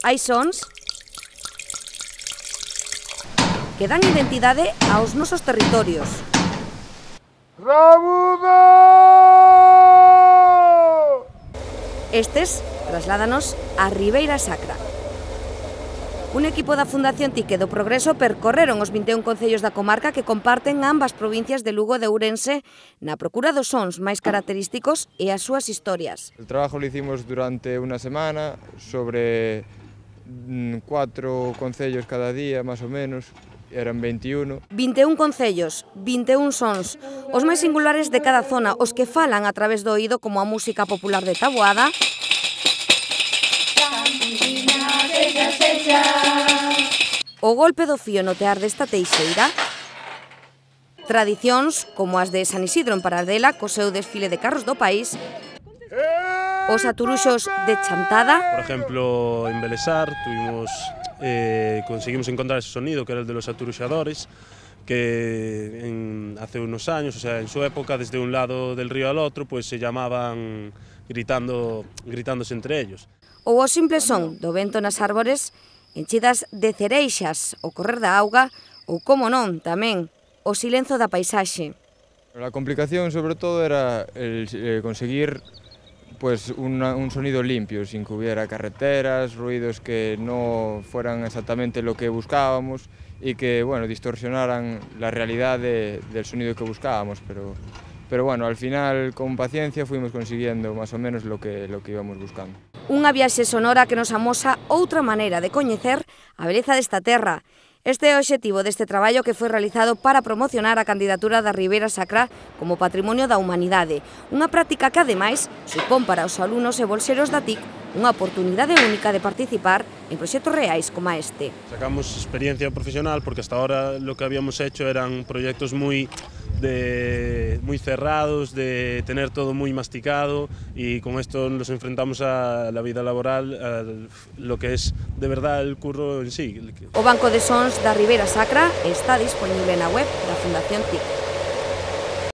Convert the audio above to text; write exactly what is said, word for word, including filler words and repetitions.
Hai sons que dan identidade aos nosos territorios. Rabudo! Estes trasládanos a Ribeira Sacra. Un equipo da Fundación Tique do Progreso percorreron os vinte e un concellos da comarca que comparten ambas provincias de Lugo e de Ourense na procura dos sons máis característicos e as súas historias. El trabajo lo hicimos durante una semana sobre cuatro concellos cada día, más o menos, eran veintiuno. vinte e un concellos, vinte e un sons, os máis singulares de cada zona, os que falan a través do oído como a música popular de Taboada, o golpe do fío no tear desta teixeira, tradicións como as de San Isidro en Paradela, co seu desfile de carros do país, os aturuxos de Chantada. Por ejemplo, en Belesar tuvimos, eh, conseguimos encontrar ese sonido que era el de los aturuxadores, que en, hace unos años, o sea, en su época, desde un lado del río al otro, pues se llamaban gritando, gritándose entre ellos. Ou o simple son do vento nas árbores, enchidas de cereixas, o correr da auga, ou, como non, tamén, o silenzo da paisaxe. La complicación, sobre todo, era el, eh, conseguir pues, una, un sonido limpio, sin que hubiera carreteras, ruidos que no fueran exactamente lo que buscábamos y que, bueno, distorsionaran la realidad de, del sonido que buscábamos, pero, pero bueno, al final, con paciencia, fuimos consiguiendo más o menos lo que, lo que íbamos buscando. Unha viaxe sonora que nos amosa outra maneira de coñecer a beleza desta terra. Este é o obxectivo deste traballo que foi realizado para promocionar a candidatura da Ribeira Sacra como Patrimonio da Humanidade. Unha práctica que, ademais, supón para os alumnos e bolseros da T I C unha oportunidade única de participar en proxectos reais como este. Sacamos experiencia profesional porque hasta ahora lo que habíamos hecho eran proyectos muy de muy cerrados, de tener todo muy masticado, y con esto nos enfrentamos a la vida laboral, a lo que es de verdad el curro en sí. O Banco de Sons da Ribeira Sacra está disponible na web da Fundación T I C.